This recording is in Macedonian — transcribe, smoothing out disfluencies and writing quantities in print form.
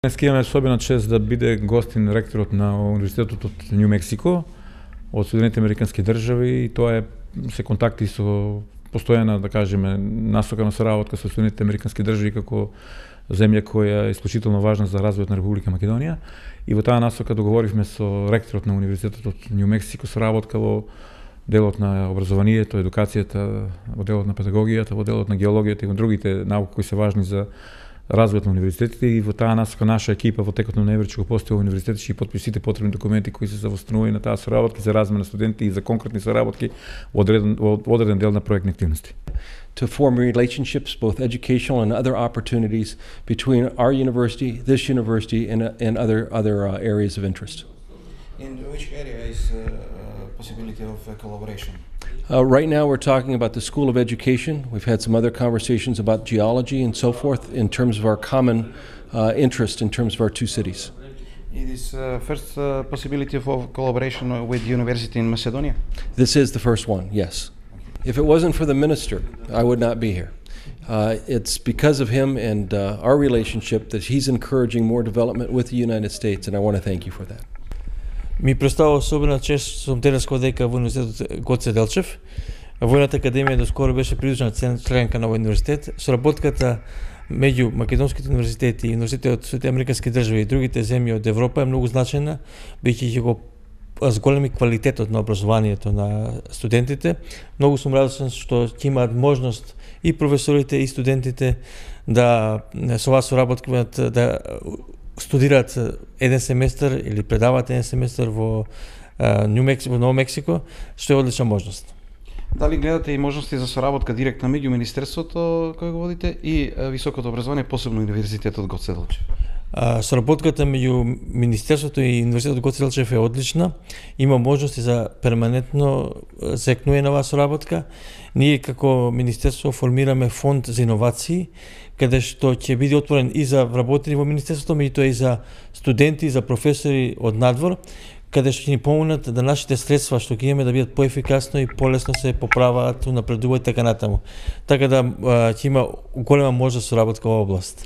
Днес имаме особена чест да биде гостин ректорот на Универзитетот од Њу Мексико, од Соединетите Американски држави, и тоа се контакти со постојана, да кажеме, насока на соработка со Соединетите Американски држави како земја која е исклучително важна за развојот на Република Македонија. И во таа насока договоривме со ректорот на Универзитетот од Њу Мексико соработка во делот на образованието, едукацијата, во делот на педагогијата, во делот на геологијата и во другите науки кои се важни за развојот на универзитетите, и во таа насока наша екипа во текот на ноември ќе го посети универзитетот и потписи сите потребни документи кои се за восстановување на таа соработка за размена на студенти и за конкретни соработки во одреден дел на проектни активности. To form relationships, both educational and other opportunities between our university, this university, and other areas of interest. In which area is possibility of collaboration? Right now we're talking about the School of Education. We've had some other conversations about geology and so forth in terms of our common interest in terms of our two cities. It is first possibility of collaboration with university in Macedonia? This is the first one, yes. If it wasn't for the minister, I would not be here. It's because of him and our relationship that he's encouraging more development with the United States, and I want to thank you for that. Ми представува особена чест, сум денес дека во Универзитетот Гоце Делчев. Војната академија доскоро беше придружена членка на овој универзитет. Соработката меѓу македонските универзитети и универзитетите од Соединетите Американски држави и другите земји од Европа е многу значајна, бидејќи ќе го зголеми квалитетот на образованието на студентите. Многу сум радосен што ќе имаат можност и професорите и студентите да со оваа соработка да студираат еден семестар или предаваат еден семестар во Ново Мексико, што е одлична можност. Дали гледате и можности за соработка директна меѓу министерството кој го водите и високото образование, посебно Универзитетот Гоце Делчев? Соработката меѓу Министерството и Универзитетот Гоце Делчев е одлична. Има можности за перманентно зекнување на оваа соработка. Ние како Министерство формираме фонд за иновации, каде што ќе биде отворен и за вработени во Министерството, меѓутоа и за студенти, и за професори од надвор, каде што ќе ни помогнат да нашите средства што ќе имаме да бидат поефикасно и полесно се поправаат, напредуваат така натаму. Така да ќе има голема можност за соработка во област.